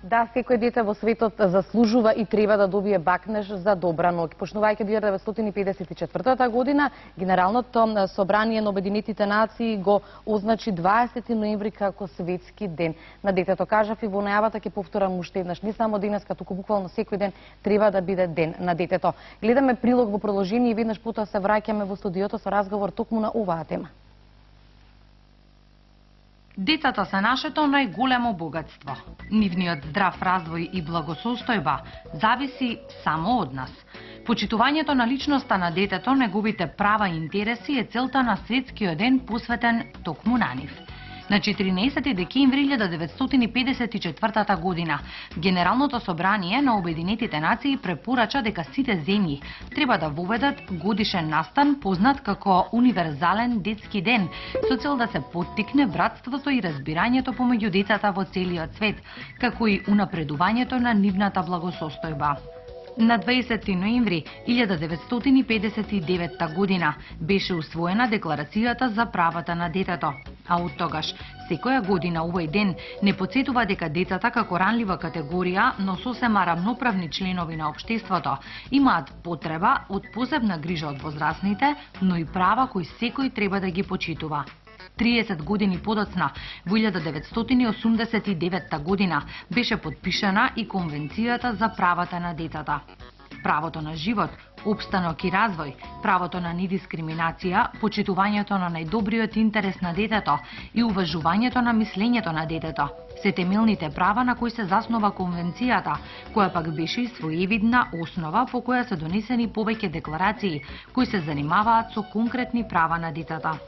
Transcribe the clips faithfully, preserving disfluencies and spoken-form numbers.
Да, секој дете во светот заслужува и треба да добие бакнеж за добра ноќ. Почнувајќи од илјада деветстотини педесет и четвртата година, Генералното собрание на Обединетите нации го означи дваесети ноември како светски ден на детето. Кажав и во најавата, ќе повторам уште еднаш, не само денеска, туку буквално секој ден треба да биде ден на детето. Гледаме прилог во продолжение и веднаш потоа се враќаме во студиото со разговор токму на оваа тема. Децата се нашето најголемо богатство. Нивниот здрав развој и благосостојба зависи само од нас. Почитувањето на личноста на детето, неговите права и интереси е целта на светскиот ден посветен токму на нив. На четиринаесети декември илјада деветстотини педесет и четвртата година, Генералното собрание на Обединетите нации препорача дека сите земји треба да воведат годишен настан познат како универзален детски ден, со цел да се поттикне братството и разбирањето помеѓу децата во целиот свет, како и унапредувањето на нивната благосостојба. На дваесети ноември илјада деветстотини педесет и деветта година беше усвоена Декларацијата за правата на детето, а од тогаш секоја година овој ден не потсетува дека децата како ранлива категорија, но сосема рамноправни членови на општеството, имаат потреба од посебна грижа од возрасните, но и права кои секој треба да ги почитува. триесет години подоцна, во илјада деветстотини осумдесет и деветта година, беше подпишана и Конвенцијата за правата на детата. Правото на живот, опстанок и развој, правото на недискриминација, почитувањето на најдобриот интерес на детето и уважувањето на мислењето на детето се темелните права на кои се заснова Конвенцијата, која пак беше и своевидна основа по која се донесени повеќе декларации кои се занимаваат со конкретни права на децата.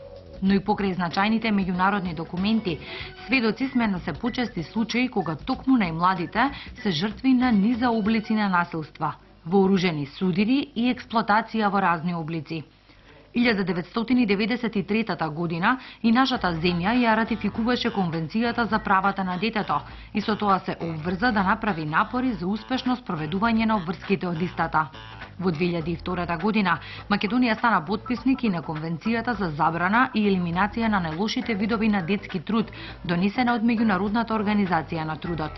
Но и покрај значајните меѓународни документи, сведоци сме на се почести случаи кога токму најмладите се жртви на низа облици на насилства, вооружени судири и експлоатација во разни облици. илјада деветстотини деветдесет и трета година и нашата земја ја ратификуваше Конвенцијата за правата на детето и со тоа се обврза да направи напори за успешно спроведување на обврските од истата. Во две илјади и втора година Македонија стана потписник и на Конвенцијата за забрана и елиминација на најлошите видови на детски труд, донесена од Меѓународната организација на трудот.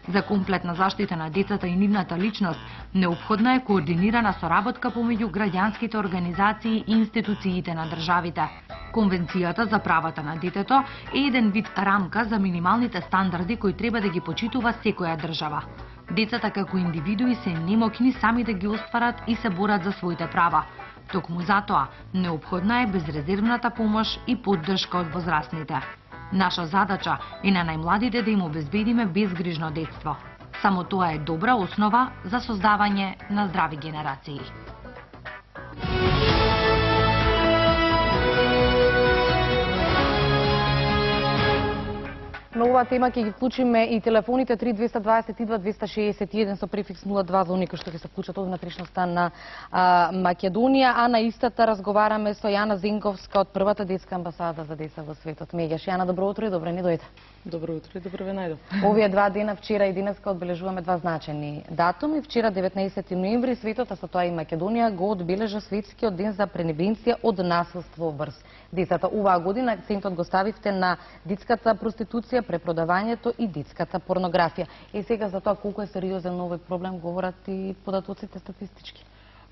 За комплетна заштита на децата и нивната личност, неопходна е координирана соработка помеѓу граѓанските организации и институциите на државите. Конвенцијата за правата на детето е еден вид рамка за минималните стандарди кои треба да ги почитува секоја држава. Децата како индивидуи се немокни сами да ги остварат и се борат за своите права. Токму затоа, неопходна е безрезервната помош и поддршка од возрастните. Наша задача е на најмладите да им обезбедиме безгрижно детство. Само тоа е добра основа за создавање на здрави генерации. На оваа тема ќе ги вклучиме и телефоните три двеста дваесет и два двеста шеесет и еден со префикс нула два за оние кои што ќе се вклучат од внатрешноста на а, Македонија, а на истата разговараме со Јана Зенковска од првата детска амбасада за деца во светот. Меѓаш, Јана, добро утро и добро ни дојде. Добро утро и добро ве најдов. Овие два дена, вчера и денеска, одбележуваме два значајни датуми. Вчера деветнаесети ноември светот, а со тоа и Македонија, го одбележа светскиот ден за превенција од насилство врз децата. Оваа година акцентот го ставивте на детската проституција, препродавањето и детската порнографија. И сега за тоа колку е сериозен овој проблем говорат и податоците статистички.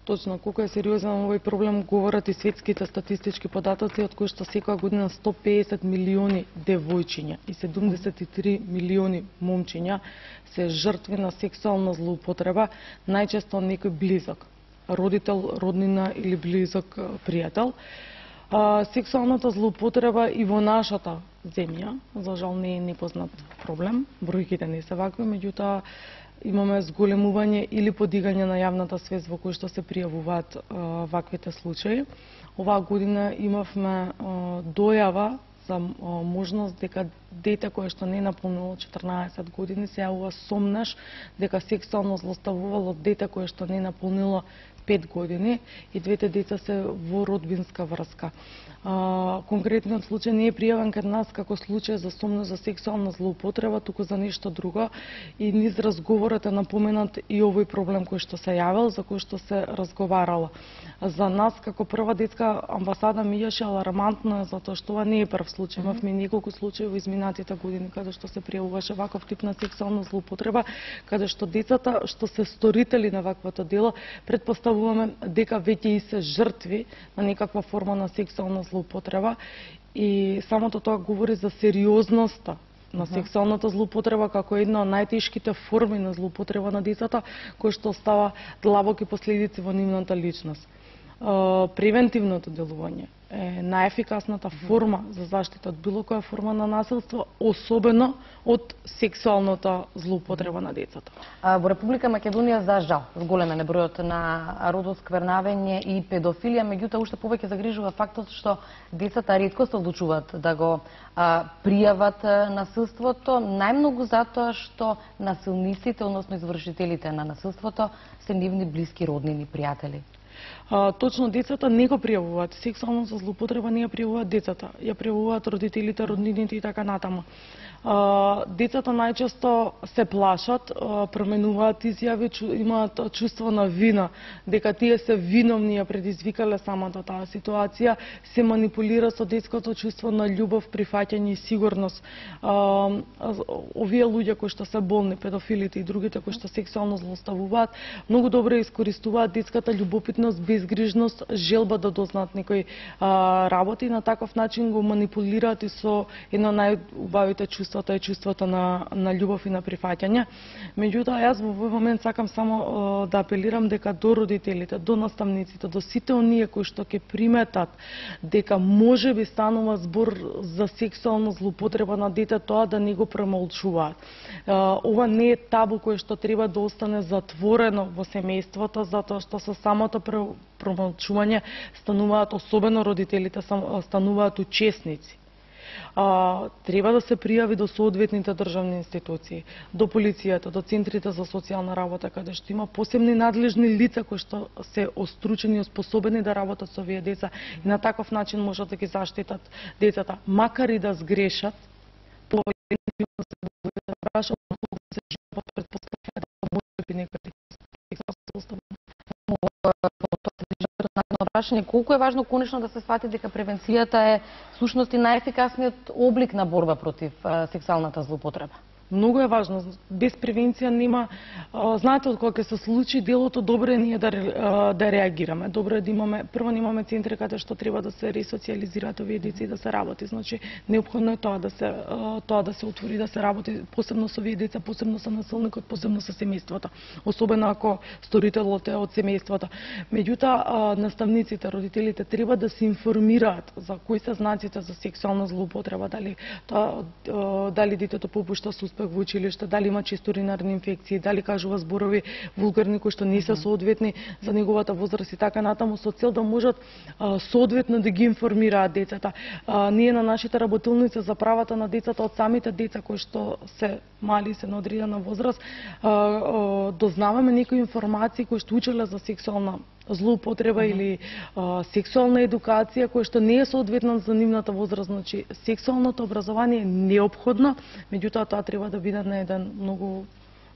Точно, колку е сериозен овој проблем говорат и светските статистички податоци, од кои што секоја година сто пеесет милиони девојчиња и седумдесет и три милиони момчиња се жртви на сексуална злоупотреба, најчесто некој близок, родител, роднина или близок пријател. А, сексуалната злоупотреба и во нашата земја, за жал не е непознат проблем, бројките не се вакви, меѓутоа имаме зголемување или подигање на јавната свест во кој што се пријавуваат а, ваквите случаи. Оваа година имавме а, дојава за а, можност дека дете кое што не наполнило четрнаесет години се јавува сомнеш дека сексуално злоставувало дете кое што не наполнило пет години и двете деца се во родбинска врска. А, конкретниот случај не е пријавен кај нас како случај за сумна за сексуална злоупотреба, туку за нешто друго, и низ разговорот е напоменат и овој проблем кој што се јавил, за кој што се разговарало. За нас како прва детска амбасада мијаше алармантно, затоа што ова не е прв случај. Имавме неколку случаи во изминатите години каде што се пријавуваше ваков тип на сексуална злоупотреба, каде што децата што се сторители на ваквото дело, предпоставуваме дека веќе и се жртви на некаква форма на сексуална злоупотреба, и самото тоа говори за сериозноста на сексуалната злоупотреба како една од најтешките форми на злоупотреба на децата, кој што остава длабоки последици во нивната личност. Превентивното делување е најефикасната форма за заштита од било која форма на насилство, особено од сексуалната злоупотреба на децата. Во Република Македонија, за жал, зголемен е бројот на родосквернавање и педофилија, меѓутоа уште повеќе загрижува фактот што децата ретко се одлучуваат да го а, пријават насилството, најмногу затоа што насилниците, односно извршителите на насилството, се нивни блиски роднини, пријатели. А, точно децата не го пријавуваат. Сексуална злоупотреба не ја пријавуваат децата, ја пријавуваат родителите, роднините и така натаму. А, децата најчесто се плашат, а, променуваат изјави, чу, имаат чувство на вина, дека тие се виновни, ја предизвикале самата таа ситуација, се манипулира со детското чувство на љубов, прифаќање и сигурност. А, овие луѓе кои што се болни, педофилите и другите кои што сексуално злоставуваат, многу добро искористуваат детската љубопитност, безгрижност, желба да дознаат некои а, работи, и на таков начин го манипулираат и со едно најубавите чувства, тоа е чувството на, на љубов и на прифаќање. Меѓутоа, јас во овој момент сакам само а, да апелирам дека до родителите, до наставниците, до сите оние кои што ќе приметат дека може би станува збор за сексуална злоупотреба на дете, тоа да не го премолчуваат. А, ова не е табу кое што треба да остане затворено во семејството, затоа што со самото промолчување стануваат, особено родителите, стануваат учесници. А, треба да се пријави до соодветните државни институции, до полицијата, до центрите за социјална работа, каде што има посебни надлежни лица кои што се остручени и оспособени да работат со овие деца, и на таков начин можат да ги заштитат децата, макар и да сгрешат, по превентивно се да прашат, да се живе под предпоставка да може би некој прашање, колку е важно конечно да се свати дека превенцијата е сушност и најефикасниот облик на борба против а, сексуалната злоупотреба? Многу е важно. Без превенција нема, а, знаете, од кога ќе се случи делото, добро е ние да, а, да реагираме. Добро е да имаме, прво имаме центри каде што треба да се ресоциализираат овие деца и да се работи. Значи, неопходно е тоа да се а, тоа да се отвори, да се работи посебно со овие деца, посебно со насилникот, посебно со семејството. Особено ако сторителот е од семејството. Меѓутоа, наставниците, родителите треба да се информираат за кои се знаците за сексуална злоупотреба, дали тоа, дали детето попушта со во училиште, дали има често уринарни инфекции, дали кажува зборови вулгарни кои што не се соодветни за неговата возраст и така натаму, со цел да можат а, соодветно да ги информираат децата. А, ние на нашите работилници за правата на децата, од самите деца кои што се мали, се на одредена возраст, а, а, дознаваме некои информации кои што учеле за сексуална злоупотреба uh -huh. или а, сексуална едукација која што не е соодветна за нивната возраст. Значи, сексуалното образование е неопходно, меѓутоа тоа треба да биде на еден многу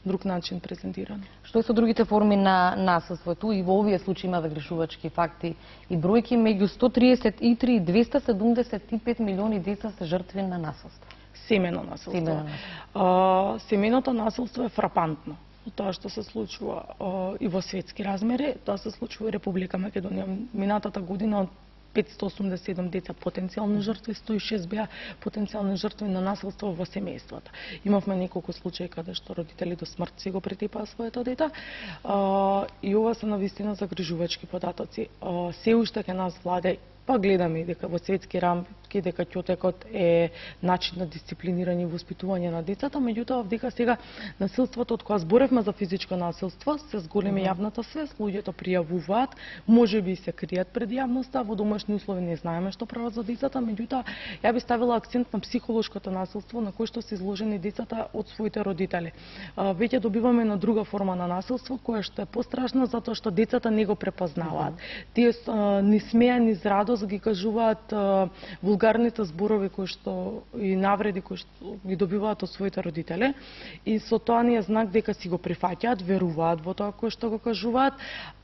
друг начин презентирано. Што е со другите форми на насилство? Ту и во овие случаи има загрешувачки факти и бројки, меѓу сто триесет и три и двеста седумдесет и пет милиони деца се жртви на насилство. Семено насилство. Семено. А, семеното насилство е фрапантно. Тоа што се случува а, и во светски размери, тоа се случува и Република Македонија. Минатата година од петстотини осумдесет и седум деца потенцијални жртви, сто и шест беа потенцијални жртви на насилство во семејствата. Имавме неколку случаи каде што родители до смрт си го претепаа своето дете. А, и ова се навистина загрижувачки податоци. А, се уште ке нас владе па гледаме и дека во светски рамки дека ќотекот е начин на дисциплинирање и воспитување на децата, меѓутоа дека сега насилството, од кога зборевме за физичко насилство, се зголеми јавната свест, луѓето пријавуваат, можеби се кријат пред јавноста, во домашни услови не знаеме што прават за децата, меѓутоа ја би ставила акцент на психолошкото насилство на кој што се изложени децата од своите родители. Веќе добиваме на друга форма на насилство која што е пострашна затоа што децата не го препознаваат. Тие ни смеа, ни радост ги кажуваат вулгарните зборови кои што и навреди кои што ги добиваат од своите родители и со тоа ни е знак дека си го прифаќаат, веруваат во тоа кое што го кажуваат,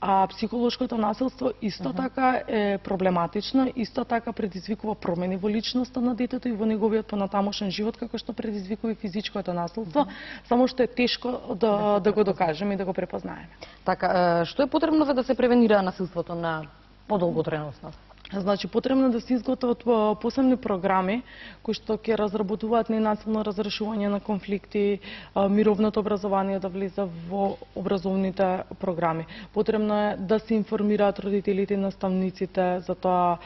а психолошкото насилство исто така е проблематично, исто така предизвикува промени во личноста на детето и во неговиот понатамошен живот како што предизвикува и физичкото насилство, само што е тешко да да го докажеме и да го препознаеме. Така, што е потребно за да се превенира насилството на подолготрајност? Значи, потребно да се изготват посебни програми кои што ќе разработуваат ненасилно разрешување на конфликти, мировното образование да влезе во образовните програми. Потребно е да се информираат родителите и наставниците за тоа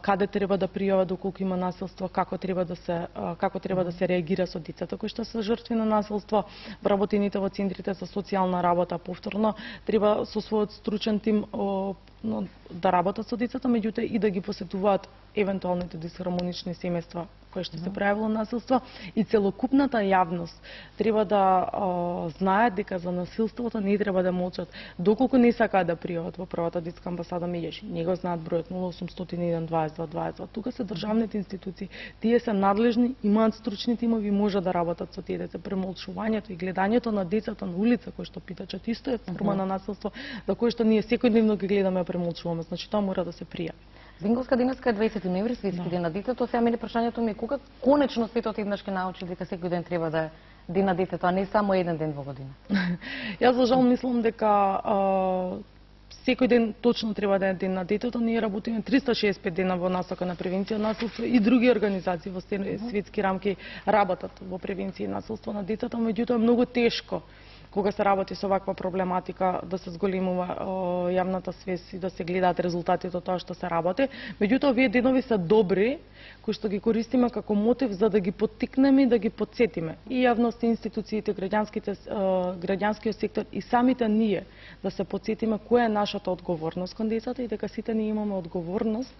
каде треба да пријават доколку има насилство, како треба да се како треба да се реагира со децата кои што се жртви на насилство, вработените во центрите за социјална работа повторно треба со својот стручен тим да работат со децата, меѓутоа и да ги посетуваат евентуалните дисхармонични семејства кои што се пројавило насилство и целокупната јавност треба да а, знаат дека за насилството не треба да молчат. Доколку не сакаат да пријават во првата детска амбасада Меѓеши, не го знаат бројот нула осумстотини и еден дваесет два дваесет два. Тука се државните институции, тие се надлежни, имаат стручни тимови, може да работат со тие деца. Премолчувањето и гледањето на децата на улица кои што питачат исто е форма на насилство, за кој што ние секојдневно ги гледаме и премолчуваме. Значи тоа мора да се пријави. Зинговска денеска е дваесети ноември, светски ден на детето. Сега мене прашањето ми е кога конечно светот еднаш ќе научи дека секој ден треба да е ден на детето, а не само еден ден во година. Јас за жал мислам дека а, секој ден точно треба да е ден на детето. Ние работиме триста шеесет и пет дена во насока на превенција на насилство и други организации во светски рамки работат во превенција и насилство на децата, меѓутоа е многу тешко кога се работи со ваква проблематика да се зголемува јавната свест и да се гледаат резултатите од тоа што се работи. Меѓутоа овие денови се добри кои што ги користиме како мотив за да ги поттикнеме и да ги потсетиме и јавноста, институциите, граѓанските граѓанскиот сектор и самите ние да се потсетиме која е нашата одговорност кон децата и дека сите ние имаме одговорност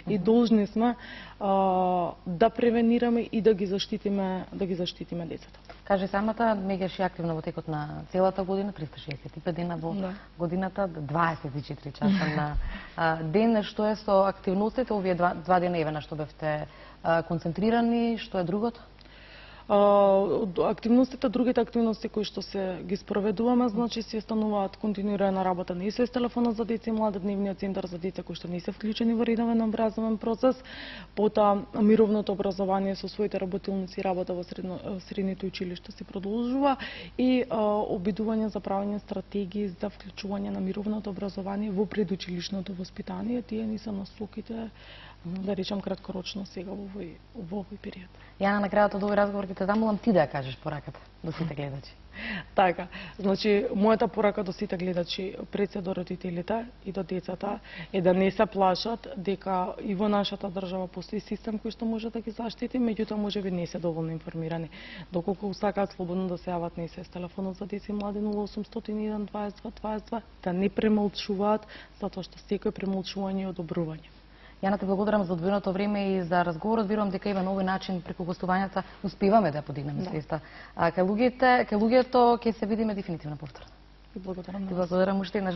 и должни сме а, да превенираме и да ги заштитиме да ги заштитиме децата. Каже самата, Меѓеши активно во текот на целата година, триста шеесет и пет дена во да. годината, дваесет и четири часа на а, ден. Што е со активностите овие два, два дена еве што бевте а, концентрирани, што е другото? Активностите, другите активности кои што се ги спроведуваме, значи се стануваат континуирана работа на СОС телефонот за деца и млади, дневниот центар за деца кои што не се вклучени во редовен образовен процес, потоа мировното образование со своите работилници работа во средно, средните училишта се продолжува и а, обидување за правење стратегии за вклучување на мировното образование во предучилишното воспитание. Тие ни се насоките, да речам краткорочно сега во овој во овој период. Јана, на крајот од овој разговор ќе те замолам ти да ја кажеш пораката до сите гледачи. Така, значи мојата порака до сите гледачи, пред се до родителите и до децата е да не се плашат дека и во нашата држава постои систем кој што може да ги заштити, меѓутоа можеби не се доволно информирани. Доколку сакаат слободно да се јават на СОС телефонот за деца и млади нула осумстотини и еден дваесет два дваесет два, да не премолчуваат, затоа што секој премолчување е одобрување. Јана, те благодарам за одвоеното време и за разговорот. Верувам дека и на овој начин преку гостувањата успеваме да подигнеме свеста. А кај луѓето, кај луѓето ќе се видиме дефинитивно повторно. И благодарам. Ти благодарам уште еднаш.